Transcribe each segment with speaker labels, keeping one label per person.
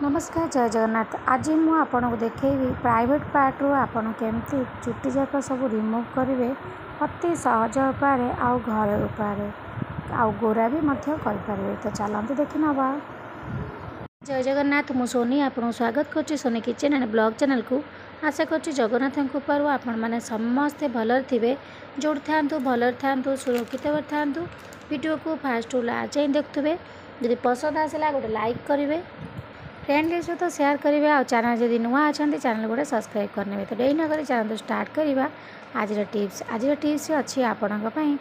Speaker 1: ନମସ୍କାର, ଜୟ ଜଗନ୍ନାଥ। ଆଜି ମୁଁ ଆପଣଙ୍କୁ ଦେଖେଇବି ପ୍ରାଇଭେଟ୍ ପାର୍ଟରୁ ଆପଣ କେମିତି ଚୁଟି ଯାକ ସବୁ ରିମୁଭ୍ କରିବେ ଅତି ସହଜ ଉପାୟରେ ଆଉ ଘରୋଇ ଉପାୟରେ, ଆଉ ଗୋରା ବି ମଧ୍ୟ କରିପାରିବେ। ତ ଚାଲନ୍ତୁ ଦେଖିନେବା। ଜୟ ଜଗନ୍ନାଥ, ମୁଁ ସୋନି ଆପଣଙ୍କୁ ସ୍ୱାଗତ କରୁଛି ସୋନି କିଚେନ୍ ଆଣ୍ଡ ବ୍ଲଗ୍ ଚ୍ୟାନେଲକୁ। ଆଶା କରୁଛି ଜଗନ୍ନାଥଙ୍କ କୃପାରୁ ଆପଣମାନେ ସମସ୍ତେ ଭଲରେ ଥିବେ। ଯେଉଁଠି ଥାଆନ୍ତୁ ଭଲରେ ଥାଆନ୍ତୁ, ସୁରକ୍ଷିତ ଭାବରେ ଥାଆନ୍ତୁ। ଭିଡ଼ିଓକୁ ଫାଷ୍ଟରୁ ଲାଷ୍ଟ ଯାଏଁ ଦେଖୁଥିବେ। ଯଦି ପସନ୍ଦ ଆସିଲା ଗୋଟେ ଲାଇକ୍ କରିବେ, ଫ୍ରେଣ୍ଡଙ୍କ ସହିତ ସେୟାର କରିବେ, ଆଉ ଚ୍ୟାନେଲ୍ ଯଦି ନୂଆ ଅଛନ୍ତି ଚ୍ୟାନେଲ୍ ଗୋଟେ ସବସ୍କ୍ରାଇବ୍ କରିନେବେ। ତ ଡେରି ନକରି ଚାଲନ୍ତୁ ଷ୍ଟାର୍ଟ କରିବା ଆଜିର ଟିପ୍ସ। ଆଜିର ଟିପ୍ସ ଅଛି ଆପଣଙ୍କ ପାଇଁ,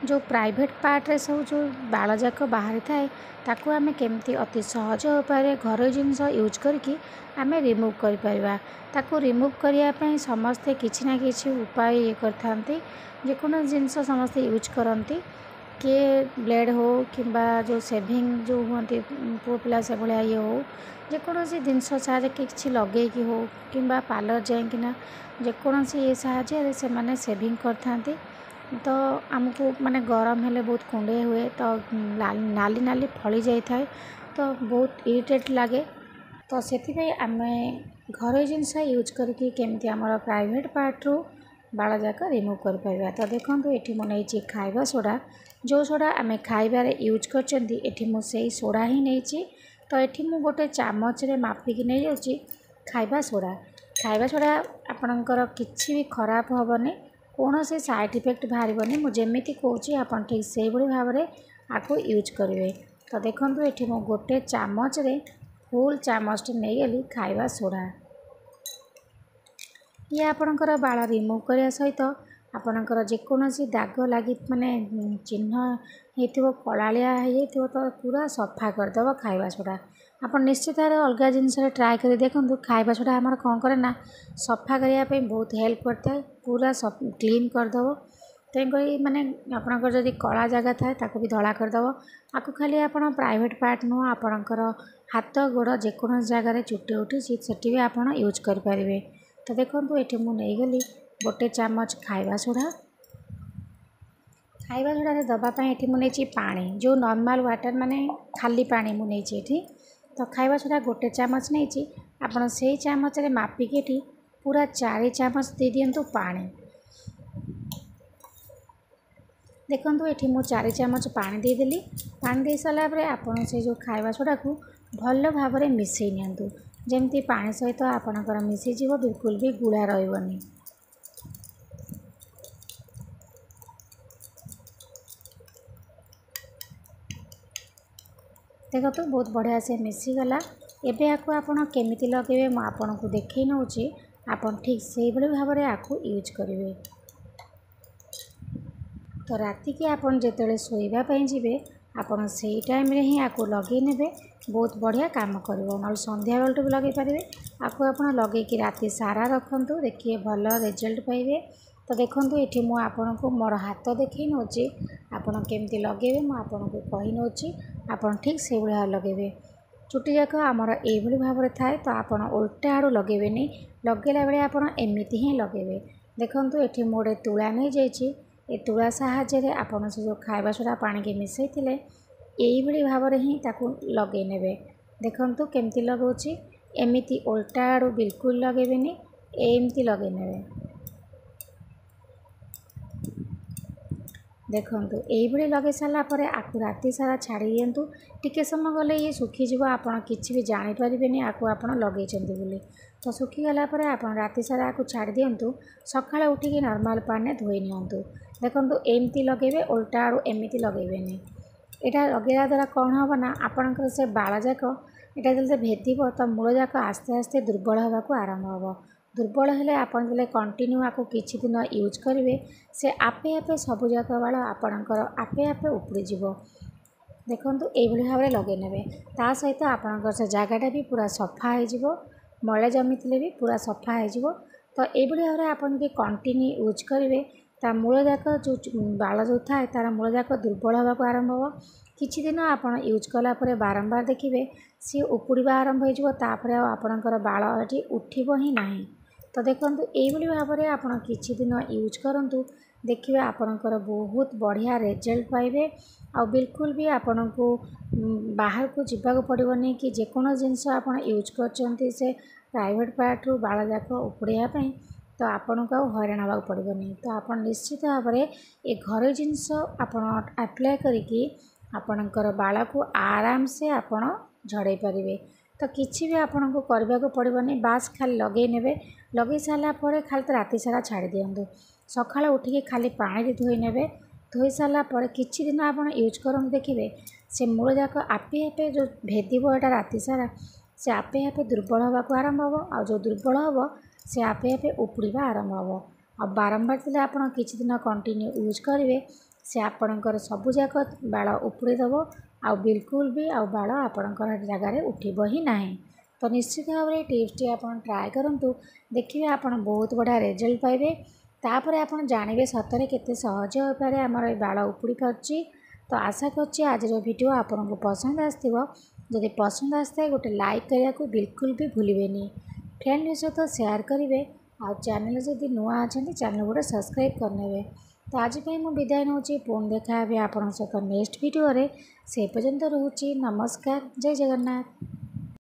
Speaker 1: ଯେଉଁ ପ୍ରାଇଭେଟ୍ ପାର୍ଟରେ ସବୁ ଯେଉଁ ବାଳ ଯାକ ବାହାରିଥାଏ ତାକୁ ଆମେ କେମିତି ଅତି ସହଜ ଉପାୟରେ ଘରୋଇ ଜିନିଷ ୟୁଜ୍ କରିକି ଆମେ ରିମୁଭ୍ କରିପାରିବା। ତାକୁ ରିମୁଭ୍ କରିବା ପାଇଁ ସମସ୍ତେ କିଛି ନା କିଛି ଉପାୟ ଇଏ କରିଥାନ୍ତି। ଯେକୌଣସି ଜିନିଷ ସମସ୍ତେ ୟୁଜ୍ କରନ୍ତି, କିଏ ବ୍ଲେଡ଼୍ ହଉ କିମ୍ବା ଯେଉଁ ସେଭିଂ ଯେଉଁ ହୁଅନ୍ତି ପୁଅ ପିଲା ସେଭଳିଆ ଇଏ ହଉ, ଯେକୌଣସି ଜିନିଷ ସାହାଯ୍ୟରେ କିଛି ଲଗେଇକି ହଉ କିମ୍ବା ପାର୍ଲର ଯାଇକିନା ଯେକୌଣସି ଇଏ ସାହାଯ୍ୟରେ ସେମାନେ ସେଭିଂ କରିଥାନ୍ତି। ତ ଆମକୁ ମାନେ ଗରମ ହେଲେ ବହୁତ କୁଣ୍ଡେଇ ହୁଏ, ତ ନାଲି ନାଲି ଫଳି ଯାଇଥାଏ, ତ ବହୁତ ଇରିଟେଟ୍ ଲାଗେ। ତ ସେଥିପାଇଁ ଆମେ ଘରୋଇ ଜିନିଷ ୟୁଜ୍ କରିକି କେମିତି ଆମର ପ୍ରାଇଭେଟ୍ ପାର୍ଟରୁ ବାଳ ଯାକ ରିମୁଭ୍ କରିପାରିବା। ତ ଦେଖନ୍ତୁ, ଏଠି ମୁଁ ନେଇଛି ଖାଇବା ସୋଡ଼ା। ଯେଉଁ ସୋଡ଼ା ଆମେ ଖାଇବାରେ ୟୁଜ୍ କରିଛନ୍ତି, ଏଠି ମୁଁ ସେଇ ସୋଡ଼ା ହିଁ ନେଇଛି। ତ ଏଠି ମୁଁ ଗୋଟେ ଚାମଚରେ ମାପିକି ନେଇଯାଉଛି ଖାଇବା ସୋଡ଼ା। ଖାଇବା ସୋଡ଼ା ଆପଣଙ୍କର କିଛି ବି ଖରାପ ହେବନି, କୌଣସି ସାଇଡ଼୍ ଇଫେକ୍ଟ ବାହାରିବନି। ମୁଁ ଯେମିତି କହୁଛି ଆପଣ ଠିକ୍ ସେଇଭଳି ଭାବରେ ଆକୁ ୟୁଜ୍ କରିବେ। ତ ଦେଖନ୍ତୁ, ଏଠି ମୁଁ ଗୋଟେ ଚାମଚରେ ଫୁଲ୍ ଚାମଚଟେ ନେଇଗଲି ଖାଇବା ସୋଡ଼ା। ଇଏ ଆପଣଙ୍କର ବାଳ ରିମୁଭ୍ କରିବା ସହିତ ଆପଣଙ୍କର ଯେକୌଣସି ଦାଗ ଲାଗି ମାନେ ଚିହ୍ନ ହେଇଥିବ, କଳାଳିଆ ହେଇଯାଇଥିବ, ତ ପୁରା ସଫା କରିଦେବ ଖାଇବା ସୋଡ଼ା। ଆପଣ ନିଶ୍ଚିତ ଭାବରେ ଅଲଗା ଜିନିଷରେ ଟ୍ରାଏ କରି ଦେଖନ୍ତୁ। ଖାଇବା ସୋଡ଼ା ଆମର କ'ଣ କରେ ନା ସଫା କରିବା ପାଇଁ ବହୁତ ହେଲ୍ପ କରିଥାଏ, ପୁରା କ୍ଲିନ୍ କରିଦେବ। ତେଣୁକରି ମାନେ ଆପଣଙ୍କର ଯଦି କଳା ଜାଗା ଥାଏ ତାକୁ ବି ଧଳା କରିଦେବ। ଆକୁ ଖାଲି ଆପଣ ପ୍ରାଇଭେଟ୍ ପାର୍ଟ ନୁହଁ, ଆପଣଙ୍କର ହାତ ଗୋଡ଼ ଯେକୌଣସି ଜାଗାରେ ଚୁଟି ଉଠିଛି ସେଠି ବି ଆପଣ ୟୁଜ୍ କରିପାରିବେ। ତ ଦେଖନ୍ତୁ, ଏଠି ମୁଁ ନେଇଗଲି ଗୋଟେ ଚାମଚ ଖାଇବା ସୋଡ଼ା। ଖାଇବା ସୋଡ଼ାରେ ଦେବା ପାଇଁ ଏଠି ମୁଁ ନେଇଛି ପାଣି, ଯେଉଁ ନର୍ମାଲ୍ ୱାଟର୍ ମାନେ ଖାଲି ପାଣି ମୁଁ ନେଇଛି ଏଠି। ତ ଖାଇବା ସୋଡ଼ା ଗୋଟେ ଚାମଚ ନେଇଛି, ଆପଣ ସେଇ ଚାମଚରେ ମାପିକି ଏଠି ପୁରା 4 ଚାମଚ ଦେଇଦିଅନ୍ତୁ ପାଣି। ଦେଖନ୍ତୁ, ଏଠି ମୁଁ 4 ଚାମଚ ପାଣି ଦେଇଦେଲି। ପାଣି ଦେଇ ସାରିଲା ପରେ ଆପଣ ସେ ଯେଉଁ ଖାଇବା ସୋଡ଼ାକୁ ଭଲ ଭାବରେ ମିଶାଇ ନିଅନ୍ତୁ, ଯେମିତି ପାଣି ସହିତ ଆପଣଙ୍କର ମିଶିଯିବ, ବିଲକୁଲ ବି ଗୁଳା ରହିବନି। ଦେଖନ୍ତୁ, ବହୁତ ବଢ଼ିଆ ସେ ମିଶିଗଲା। ଏବେ ଆକୁ ଆପଣ କେମିତି ଲଗାଇବେ ମୁଁ ଆପଣଙ୍କୁ ଦେଖାଇ ନେଉଛି, ଆପଣ ଠିକ୍ ସେଇଭଳି ଭାବରେ ଆକୁ ୟୁଜ୍ କରିବେ। ତ ରାତିକି ଆପଣ ଯେତେବେଳେ ଶୋଇବା ପାଇଁ ଯିବେ ଆପଣ ସେଇ ଟାଇମ୍ରେ ହିଁ ଆକୁ ଲଗାଇ ନେବେ, ବହୁତ ବଢ଼ିଆ କାମ କରିବ। ନହେଲେ ସନ୍ଧ୍ୟାବେଳଠୁ ବି ଲଗାଇ ପାରିବେ। ଆକୁ ଆପଣ ଲଗାଇକି ରାତି ସାରା ରଖନ୍ତୁ, ଦେଖିବେ ଭଲ ରେଜଲ୍ଟ ପାଇବେ। ତ ଦେଖନ୍ତୁ, ଏଠି ମୁଁ ଆପଣଙ୍କୁ ମୋର ହାତ ଦେଖାଇ ନେଉଛି, ଆପଣ କେମିତି ଲଗାଇବେ ମୁଁ ଆପଣଙ୍କୁ କହି ନେଉଛି, ଆପଣ ଠିକ୍ ସେଇଭଳି ଭାବରେ ଲଗାଇବେ। ଚୁଟି ଯାକ ଆମର ଏଇଭଳି ଭାବରେ ଥାଏ, ତ ଆପଣ ଓଲଟା ଆଡ଼ୁ ଲଗାଇବେନି, ଲଗାଇଲା ବେଳେ ଆପଣ ଏମିତି ହିଁ ଲଗାଇବେ। ଦେଖନ୍ତୁ, ଏଠି ମୁଁ ଗୋଟେ ତୁଳା ନେଇଯାଇଛି। ଏ ତୁଳା ସାହାଯ୍ୟରେ ଆପଣ ସେ ଯେଉଁ ଖାଇବା ସୋଡ଼ା ପାଣିକି ମିଶାଇଥିଲେ ଏଇଭଳି ଭାବରେ ହିଁ ତାକୁ ଲଗାଇ ନେବେ। ଦେଖନ୍ତୁ କେମିତି ଲଗାଉଛି, ଏମିତି ଓଲଟା ଆଡ଼ୁ ବିଲକୁଲ ଲଗାଇବେନି, ଏମିତି ଲଗାଇ ନେବେ। ଦେଖନ୍ତୁ, ଏଇଭଳି ଲଗାଇ ସାରିଲା ପରେ ଆକୁ ରାତି ସାରା ଛାଡ଼ି ଦିଅନ୍ତୁ। ଟିକେ ସମୟ ଗଲେ ଇଏ ଶୁଖିଯିବ, ଆପଣ କିଛି ବି ଜାଣିପାରିବେନି ଆକୁ ଆପଣ ଲଗାଇଛନ୍ତି ବୋଲି। ତ ଶୁଖିଗଲା ପରେ ଆପଣ ରାତି ସାରା ଆକୁ ଛାଡ଼ି ଦିଅନ୍ତୁ, ସକାଳେ ଉଠିକି ନର୍ମାଲ୍ ପାଣିରେ ଧୋଇ ନିଅନ୍ତୁ। ଦେଖନ୍ତୁ, ଏମିତି ଲଗାଇବେ, ଓଲଟା ଆଡ଼ୁ ଏମିତି ଲଗାଇବେନି। ଏଇଟା ଲଗାଇବା ଦ୍ୱାରା କ'ଣ ହେବ ନା ଆପଣଙ୍କର ସେ ବାଳ ଯାକ ଏଇଟା ଯେତେବେଳେ ଭେଦିବ ତ ମୂଳ ଯାକ ଆସ୍ତେ ଆସ୍ତେ ଦୁର୍ବଳ ହେବାକୁ ଆରମ୍ଭ ହେବ। ଦୁର୍ବଳ ହେଲେ ଆପଣ ଯେତେବେଳେ କଣ୍ଟିନ୍ୟୁ ଆକୁ କିଛି ଦିନ ୟୁଜ୍ କରିବେ, ସେ ଆପେ ଆପେ ସବୁଯାକ ବାଳ ଆପଣଙ୍କର ଆପେ ଆପେ ଉପୁଡ଼ିଯିବ। ଦେଖନ୍ତୁ, ଏଇଭଳି ଭାବରେ ଲଗାଇ ନେବେ। ତା ସହିତ ଆପଣଙ୍କର ସେ ଜାଗାଟା ବି ପୁରା ସଫା ହେଇଯିବ, ମଇଳା ଜମିଥିଲେ ବି ପୁରା ସଫା ହେଇଯିବ। ତ ଏଇଭଳି ଭାବରେ ଆପଣ ଯଦି କଣ୍ଟିନ୍ୟୁ ୟୁଜ୍ କରିବେ, ତା ମୂଳ ଯାକ ଯେଉଁ ବାଳ ଯେଉଁ ଥାଏ ତା'ର ମୂଳ ଯାକ ଦୁର୍ବଳ ହେବାକୁ ଆରମ୍ଭ ହେବ। କିଛି ଦିନ ଆପଣ ୟୁଜ୍ କଲା ପରେ ବାରମ୍ବାର ଦେଖିବେ ସିଏ ଉପୁଡ଼ିବା ଆରମ୍ଭ ହେଇଯିବ, ତାପରେ ଆଉ ଆପଣଙ୍କର ବାଳ ଏଠି ଉଠିବ ହିଁ ନାହିଁ। ତ ତ ଦେଖନ୍ତୁ, ଏଇଭଳି ଭାବରେ ଆପଣ କିଛି ଦିନ ୟୁଜ୍ କରନ୍ତୁ, ଦେଖିବେ ଆପଣଙ୍କର ବହୁତ ବଢ଼ିଆ ରେଜଲ୍ଟ ପାଇବେ। ଆଉ ବିଲକୁଲ ବି ଆପଣଙ୍କୁ ବାହାରକୁ ଯିବାକୁ ପଡ଼ିବନି କି ଯେକୌଣସି ଜିନିଷ ଆପଣ ୟୁଜ୍ କରିଛନ୍ତି ସେ ପ୍ରାଇଭେଟ୍ ପାର୍ଟରୁ ବାଳ ଯାକ ଉପୁଡ଼େଇବା ପାଇଁ, ତ ଆପଣଙ୍କୁ ଆଉ ହଇରାଣ ହେବାକୁ ପଡ଼ିବନି। ତ ଆପଣ ନିଶ୍ଚିତ ଭାବରେ ଏ ଘରୋଇ ଜିନିଷ ଆପଣ ଆପ୍ଲାଏ କରିକି ଆପଣଙ୍କର ବାଳକୁ ଆରାମସେ ଆପଣ ଝଡ଼େଇ ପାରିବେ। ତ କିଛି ବି ଆପଣଙ୍କୁ କରିବାକୁ ପଡ଼ିବନି, ବାସ୍ ଖାଲି ଲଗେଇ ନେବେ। ଲଗେଇ ସାରିଲା ପରେ ଖାଲି ତ ରାତି ସାରା ଛାଡ଼ି ଦିଅନ୍ତୁ। ସକାଳୁ ଉଠିକି ଖାଲି ପାଣିରେ ଧୋଇ ନେବେ। ଧୋଇ ସାରିଲା ପରେ କିଛି ଦିନ ଆପଣ ୟୁଜ୍ କରନ୍ତୁ, ଦେଖିବେ ସେ ମୂଳ ଯାକ ଆପେ ଆପେ ଯେଉଁ ଭେଦିବ ଏଇଟା ରାତି ସାରା, ସେ ଆପେ ଆପେ ଦୁର୍ବଳ ହେବାକୁ ଆରମ୍ଭ ହେବ। ଆଉ ଯେଉଁ ଦୁର୍ବଳ ହେବ, ସେ ଆପେ ଆପେ ଉପୁଡ଼ିବା ଆରମ୍ଭ ହେବ। ଆଉ ବାରମ୍ବାର ଥିଲେ ଆପଣ କିଛି ଦିନ କଣ୍ଟିନ୍ୟୁ ୟୁଜ୍ କରିବେ, ସେ ଆପଣଙ୍କର ସବୁଯାକ ବାଳ ଉପୁଡ଼େଇ ଦେବ, ଆଉ ବିଲକୁଲ ବି ଆଉ ବାଳ ଆପଣଙ୍କର ଜାଗାରେ ଉଠିବ ହିଁ ନାହିଁ। ତ ନିଶ୍ଚିତ ଭାବରେ ଟିପ୍ସଟି ଆପଣ ଟ୍ରାଏ କରନ୍ତୁ, ଦେଖିବେ ଆପଣ ବହୁତ ବଢ଼ିଆ ରେଜଲ୍ଟ ପାଇବେ। ତାପରେ ଆପଣ ଜାଣିବେ ସତରେ କେତେ ସହଜ ଉପାୟରେ ଆମର ଏ ବାଳ ଉପୁଡ଼ି ପାରୁଛି। ତ ଆଶା କରୁଛି ଆଜିର ଭିଡ଼ିଓ ଆପଣଙ୍କୁ ପସନ୍ଦ ଆସିଥିବ। ଯଦି ପସନ୍ଦ ଆସିଥାଏ, ଗୋଟେ ଲାଇକ୍ କରିବାକୁ ବିଲକୁଲ ବି ଭୁଲିବେନି, ଫ୍ରେଣ୍ଡଙ୍କ ସହିତ ସେୟାର କରିବେ, ଆଉ ଚ୍ୟାନେଲ୍ ଯଦି ନୂଆ ଅଛନ୍ତି ଚ୍ୟାନେଲ୍ ଗୋଟେ ସବସ୍କ୍ରାଇବ୍ କରିନେବେ। ତ ଆଜି ପାଇଁ ମୁଁ ବିଦାୟ ନେଉଛି, ପୁଣି ଦେଖା ହେବି ଆପଣଙ୍କ ସହିତ ନେକ୍ସଟ ଭିଡ଼ିଓରେ। ସେ ପର୍ଯ୍ୟନ୍ତ ରହୁଛି, ନମସ୍କାର, ଜୟ ଜଗନ୍ନାଥ।